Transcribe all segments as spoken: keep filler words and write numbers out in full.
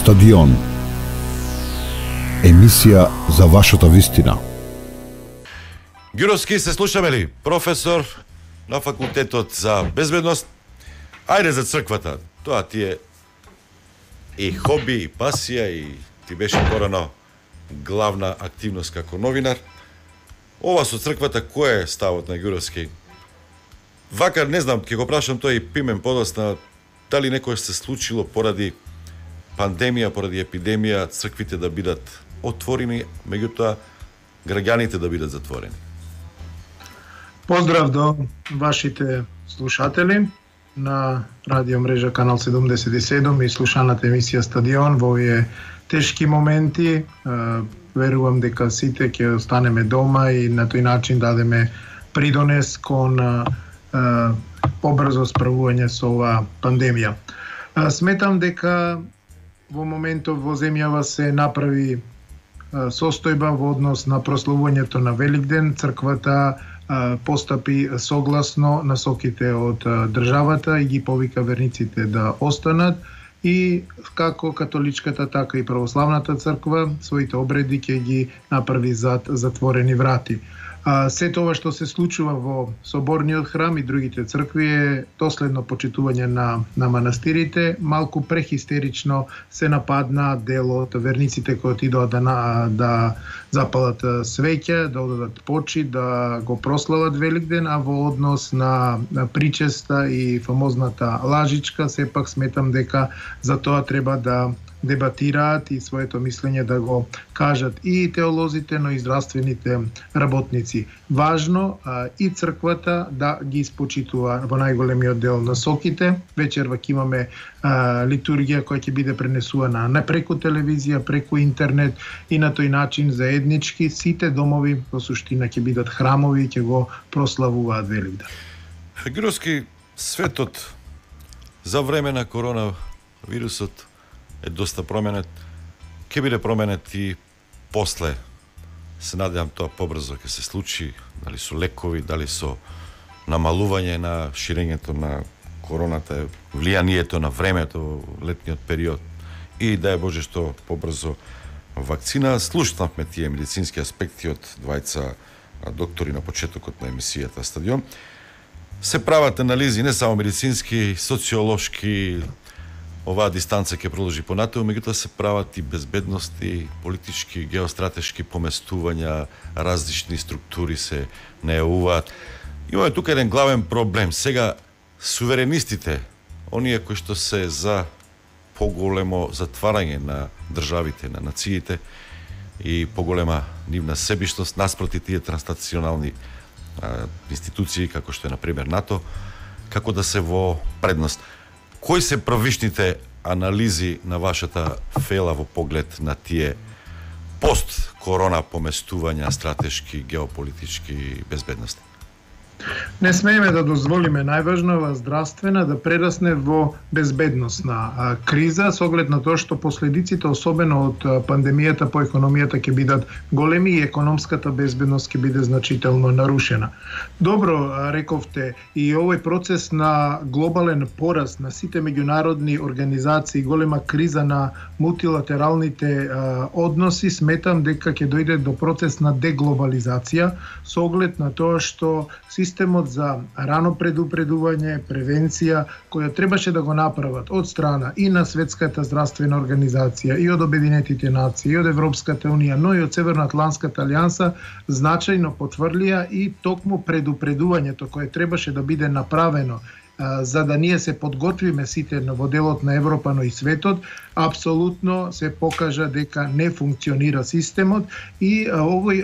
Стадион. Емисија за вашата вистина. Ѓуровски, се слушаме ли? Професор на факултетот за безбедност. Ајде за црквата. Тоа ти е и хоби, и пасија, и ти беше порано главна активност како новинар. Ова со црквата, кој е ставот на Ѓуровски? Вака, не знам, ќе го прашам тој и пимен подосна, дали некој се случило поради пандемија, поради епидемија, црквите да бидат отворени, меѓутоа граѓаните да бидат затворени. Поздрав до вашите слушатели на радио мрежа Канал седумдесет и седум и слушаната емисија Стадион во овие тешки моменти. Верувам дека сите ќе останеме дома и на тој начин дадеме придонес кон побрзо справување со оваа пандемија. Сметам дека во моментов во земјава се направи состојба во однос на прославувањето на Великден. Црквата постапи согласно насоките од државата и ги повика верниците да останат, и како католичката, така и православната црква своите обреди ќе ги направи зад затворени врати. Се тоа што се случува во соборниот храм и другите цркви е доследно почитување на, на манастирите. Малку прехистерично се нападна дел од верниците кои отидоа да, да запалат свеќа, да одадат почит, да го прослават Великден, а во однос на, на причеста и фамозната лажичка, сепак сметам дека за тоа треба да дебатираат и своето мислење да го кажат и теолозите, но и здравствените работници. Важно а, и црквата да ги испочитува во најголемиот дел насоките. Вечерва ќе имаме а, литургија која ќе биде пренесувана не преку телевизија, преку интернет, и на тој начин заеднички сите домови во суштина ќе бидат храмови и ќе го прославуваат Великден. Ѓуровски, светот за време на коронавирусот е доста променет. Ке биде променет и после. Се надевам тоа побрзо ќе се случи, дали со лекови, дали со намалување на ширењето на короната, влијанието на времето, летниот период, и дај Боже што побрзо вакцина. Слушнавме тие медицински аспекти од двајца доктори на почетокот на емисијата Стадион. Се прават анализи не само медицински, социолошки. Оваа дистанца ќе продолжи понатаму, меѓутоа се прават и безбедности, политички, геостратешки поместувања, различни структури се најавуваат. Имаме тука еден главен проблем. Сега суверенистите, оние кои што се за поголемо затварање на државите, на нациите и поголема нивна себишност наспроти тие транснационални а, институции, како што е например НАТО, како да се во предност. Кои се првичните анализи на вашата фела во поглед на тие пост-корона поместувања стратешки, геополитички, безбедности? Не смееме да дозволиме најважнава здравствена да прерасне во безбедносна а, криза, со оглед на тоа што последиците, особено од а, пандемијата по економијата, ќе бидат големи и економската безбедност ќе биде значително нарушена. Добро а, рековте, и овој процес на глобален пораст на сите меѓународни организации, голема криза на мултилатералните а, односи, сметам дека ќе дојде до процес на деглобализација, со оглед на тоа што системот за рано предупредување, превенција, која требаше да го направат од страна и на Светската здравствена организација, и од Обединетите нации, и од Европската унија, но и од Северноатлантската алијанса, значајно потврлија и токму предупредувањето кое требаше да биде направено за да ние се подготвиме сите во делот на Европа, но и светот, апсолутно се покажа дека не функционира системот, и овој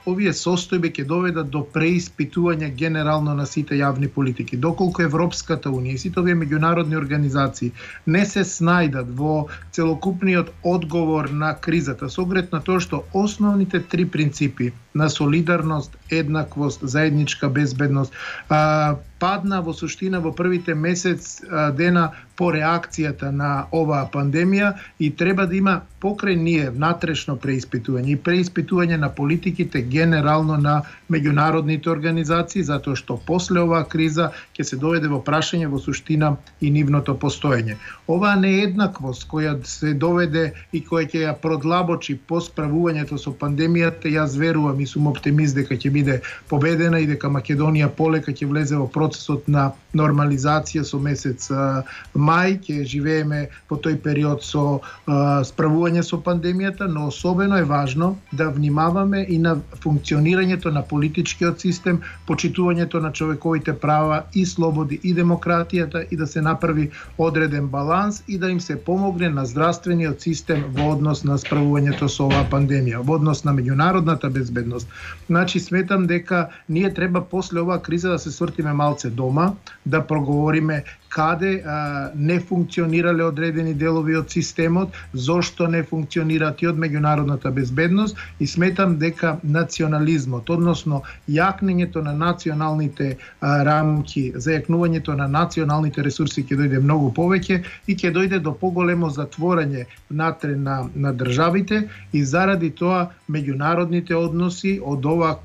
овие состојби ќе доведат до преиспитување генерално на сите јавни политики. Доколку Европската унија и сите овие меѓународни организации не се снајдат во целокупниот одговор на кризата, со оглед на тоа што основните три принципи на солидарност, еднаквост, заедничка безбедност, а, падна во суштина во првите месец а, дена по реакцијата на оваа пандемија и треба да има покрај ние внатрешно преиспитување и преиспитување на политиките генерално на меѓународните организации, затоа што после оваа криза ќе се доведе во прашање во суштина и нивното постоење. Оваа нееднаквост која се доведе и која ќе ја продлабочи по справувањето со пандемијата, јас верувам и сум оптимист дека ќе биде победена и дека Македонија полека ќе влезе во процесот на нормализација со месец а, мај, ќе живееме по тој период со а, справување со пандемијата, но особено е важно да внимаваме и на функционирањето на политичкиот систем, почитувањето на човековите права и слободи и демократијата и да се направи одреден баланс и да им се помогне на здравствениот систем во однос на справувањето со оваа пандемија, во однос на меѓународната безбедност. Значи сметам дека ние треба после оваа криза да се свртиме малце дома, да проговориме каде а, не функционирале одредени делови од системот, зошто не функционираат и од меѓународната безбедност и сметам дека национализмот, односно јакнењето на националните а, рамки, зајакнувањето на националните ресурси ќе дојде многу повеќе и ќе дојде до поголемо затворање внатре на, на државите и заради тоа меѓународните односи од оваа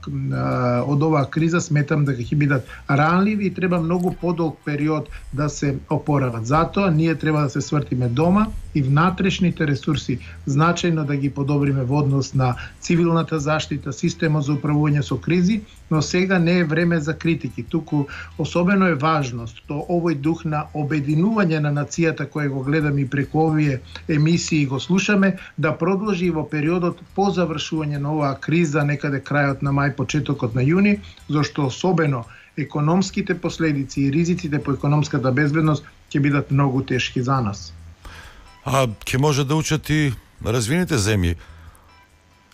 од оваа криза сметам дека ќе бидат ранливи и треба многу подолг период да се опорават. Затоа ние треба да се свртиме дома и внатрешните ресурси значајно да ги подобриме во однос на цивилната заштита, системот за управување со кризи, но сега не е време за критики. Туку особено е важно што овој дух на обединување на нацијата кој го гледаме и преку овие емисии го слушаме, да продолжи во периодот по завршување на оваа криза, некаде крајот на мај, почетокот на јуни, зашто особено економските последици и ризиците по економската безбедност ќе бидат многу тешки за нас. А ќе може да учат и развиените земји.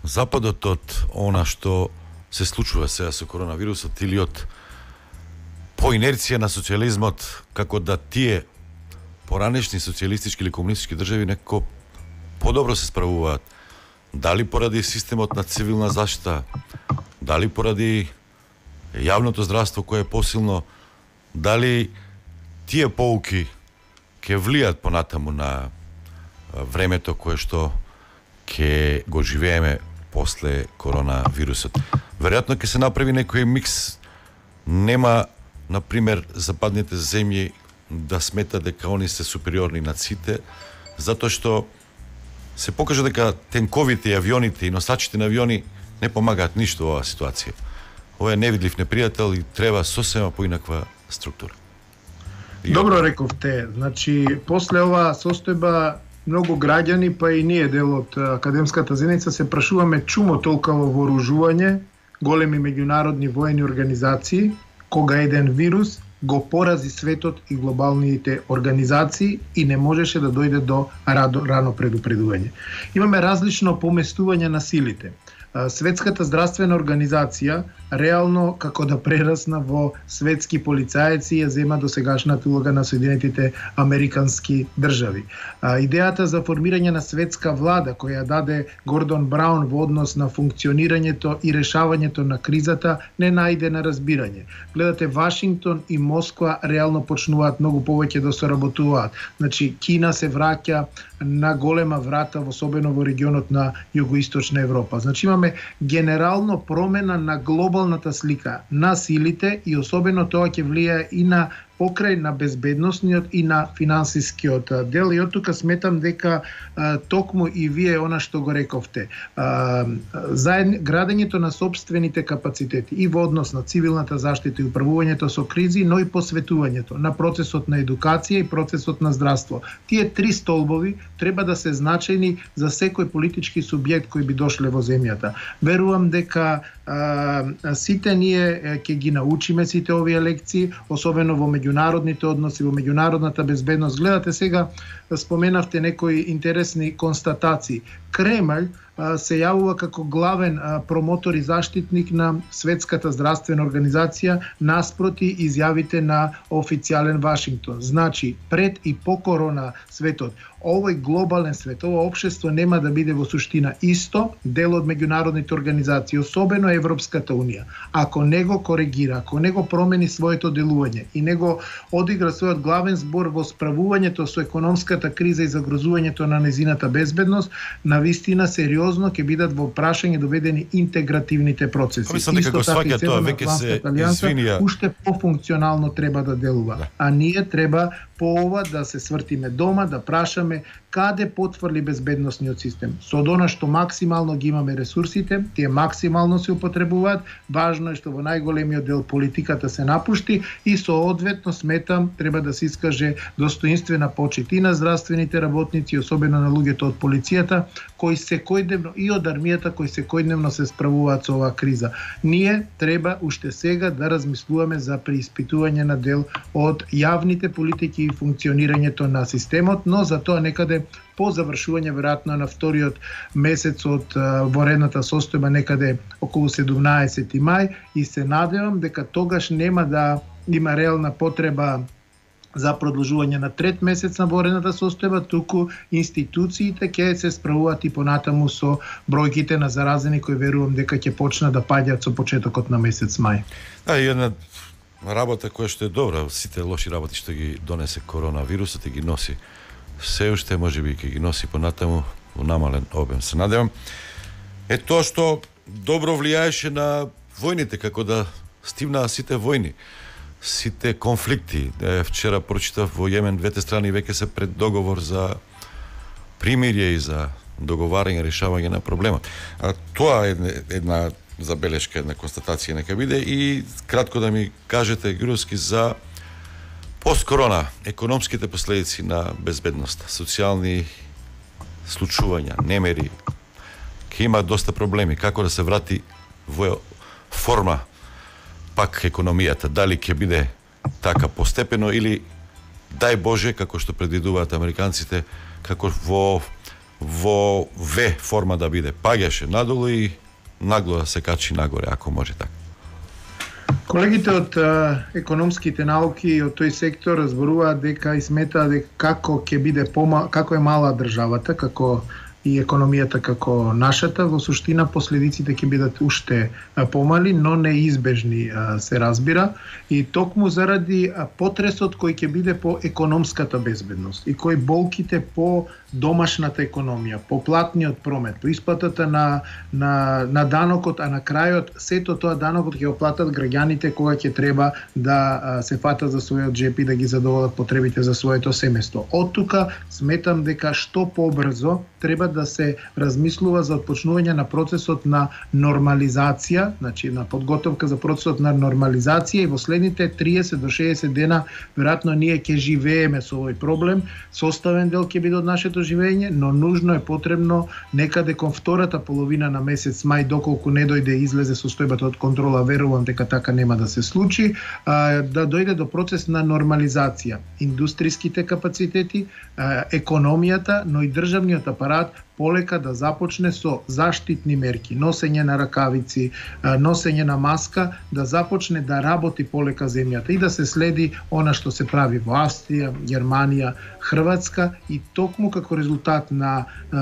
Западот од она што се случува сега со коронавирусот или од по инерција на социјализмот, како да тие поранешни социјалистички или комунистички држави некако подобро се справуваат. Дали поради системот на цивилна заштита, дали поради јавното здравство кое е посилно, дали тие поуки ќе влијат понатаму на времето кое што ќе го живееме после коронавирусот. Веројатно ќе се направи некој микс. Нема, например, западните земји да сметат дека они се супериорни над сите, затоа што се покажа дека тенковите и авионите и носачите на авиони не помагаат ништо во оваа ситуација. Ова е невидлив непријател и треба сосема поинаква структура. И Добро рековте. Значи, после оваа состојба многу граѓани, па и ние дел од академската заедница се прашуваме чумо толкаво вооружување, големи меѓународни воени организации, кога еден вирус го порази светот и глобалните организации и не можеше да дојде до рано предупредување. Имаме различно поместување на силите. Светската здравствена организација реално како да прерасна во светски полицајци ја зема досегашната улога на Соединетите американски држави. Идејата за формирање на светска влада која даде Гордон Браун во однос на функционирањето и решавањето на кризата не најде на разбирање. Гледате, Вашингтон и Москва реално почнуваат многу повеќе да соработуваат. Значи, Кина се враќа на голема врата, особено во регионот на југоисточна Европа. Значи, имаме генерално промена на глобалната слика на силите и особено тоа ќе влијае и на покрај на безбедносниот и на финансискиот дел. И од тука сметам дека а, токму и вие она што го рековте, а, заедно градењето на собствените капацитети и во однос на цивилната заштита и управувањето со кризи, но и посветувањето на процесот на едукација и процесот на здравство. Тие три столбови треба да се значајни за секој политички субјект кој би дошле во земјата. Верувам дека а, сите ние ќе ги научиме сите овие лекции, особено во меѓународните односи, во меѓународната безбедност. Гледате сега, споменавте некои интересни констатации. Кремљ се јавува како главен промотор и заштитник на Светската здравствена организација наспроти изјавите на официјален Вашингтон. Значи, пред и по корона светот, овој глобален свет, ова општество нема да биде во суштина исто дел од меѓународните организации, особено Европската унија. Ако не го коригира, ако не го промени своето делување и не го одигра својот главен збор во справувањето со економската криза и загрозувањето на незината безбедност, навистина сериозно ќе бидат во прашање доведени интегративните процеси. Мислам дека го сваќа тоа, веќе се извинија. Уште пофункционално треба да делува. Да. А ние треба по ова да се свртиме дома, да прашаме каде потврли безбедносниот систем. Со она што максимално ги имаме ресурсите, тие максимално се употребуваат, важно е што во најголемиот дел политиката се напушти и соодветно сметам треба да се искаже достоинствена почит и на здравствените работници, особено на луѓето од полицијата, кои секојдневно и од армијата кои секојдневно се справуваат со оваа криза. Ние треба уште сега да размислуваме за преиспитување на дел од јавните политики и функционирањето на системот, но за тоа некаде по завршување веројатно на вториот месец од воредната состојба, некаде околу седумнаесети мај, и се надевам дека тогаш нема да има реална потреба за продолжување на трет месец на воредната состојба, туку институциите ќе се справуваат и понатаму со бројките на заразени кои верувам дека ќе почнат да паѓаат со почетокот на месец мај. Да, и една работа која што е добра, сите лоши работи што ги донесе коронавирусот и ги носи се уште, можеби ќе ги носи понатаму во намален обем. Се надевам е тоа што добро влијаеше на војните, како да стивнаа сите војни, сите конфликти. Е, вчера прочитав во Јемен двете страни веќе се пред договор за примирие и за договарање, решавање на проблемот. А тоа е една забелешка, една констатација нека биде и кратко да ми кажете, Груевски, за посткорона, економските последици на безбедноста, социјални случувања, немери, ќе има доста проблеми, како да се врати во форма пак економијата, дали ќе биде така постепено или дај Боже, како што предвидуваат американците, како во во В форма да биде, паѓаше надолу и нагло да се качи нагоре, ако може така. Колегите од а, економските науки и од тој сектор разборуваат дека и сметаат дека како ќе биде пома, како е мала државата, како и економијата како нашата, во суштина последиците ќе бидат уште помали, но неизбежни се разбира, и токму заради потресот кој ќе биде по економската безбедност и кој болките по домашната економија, по платниот промет, по исплатата на, на, на данокот, а на крајот сето тоа данокот ќе го платат граѓаните кога ќе треба да се фатат за својот джеп и да ги задоволат потребите за своето семејство. Од тука сметам дека што побрзо треба да се размислува за отпочнување на процесот на нормализација, значи на подготовка за процесот на нормализација, и во следните триесет до шеесет дена веројатно ние ќе живееме со овој проблем. Составен дел ќе биде од нашето живење, но нужно е потребно некаде кон втората половина на месец мај, доколку не дојде излезе состојбата од контрола, верувам дека така нема да се случи, да дојде до процес на нормализација. Индустријските капацитети, економијата, но и државниот апарат полека да започне со заштитни мерки, носење на ракавици, носење на маска, да започне да работи полека земјата и да се следи она што се прави во Австрија, Германија, Хрватска, и токму како резултат на е,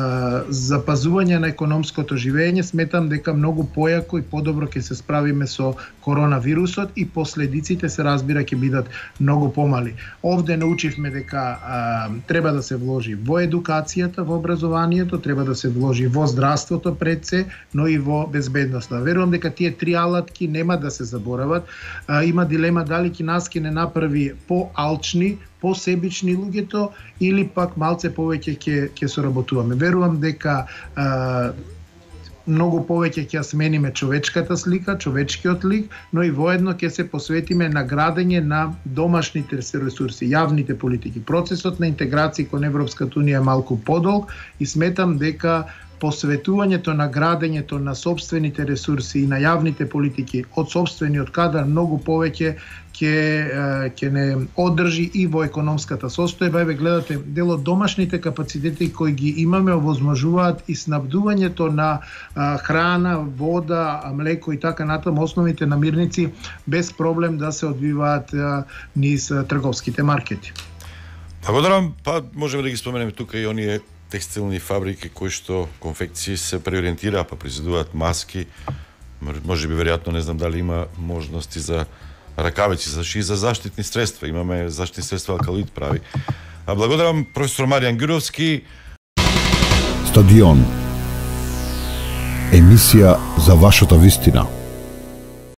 запазување на економското живење, сметам дека многу појако и подобро ќе се справиме со коронавирусот и последиците се разбира ќе бидат многу помали. Овде научивме дека е, треба да се вложи во едукацијата, во образованието, треба да се вложи во здравството пред се, но и во безбедноста. Верувам дека тие три алатки нема да се заборават. А, има дилема дали ќе нас ќе не направи поалчни, посебични луѓето или пак малце повеќе ќе ќе соработуваме. Верувам дека а, многу повеќе ќе смениме човечката слика, човечкиот лик, но и воедно ќе се посветиме на градење на домашните ресурси, јавните политики. Процесот на интеграција кон Европската унија е малку подолг и сметам дека посветувањето на градењето на собствените ресурси и на јавните политики од собствениот кадар многу повеќе ќе ќе не одржи и во економската состојба. Еве гледате, дел од домашните капацитети кои ги имаме овозможуваат и снабдувањето на а, храна, вода, млеко и така натаму, основните намирници без проблем да се одвиваат а, низ а, трговските маркети. Благодарам, па можеме да ги споменеме тука и оние текстилни фабрики кои што конфекции се преориентираа, па произведуваат маски. Може би веројатно, не знам дали има можности за ракавици, за ши, за заштитни средства. Имаме заштитни средства Алкалоид прави. А благодарам професор Маријан Ѓуровски. Стадион. Емисија за вашата вистина.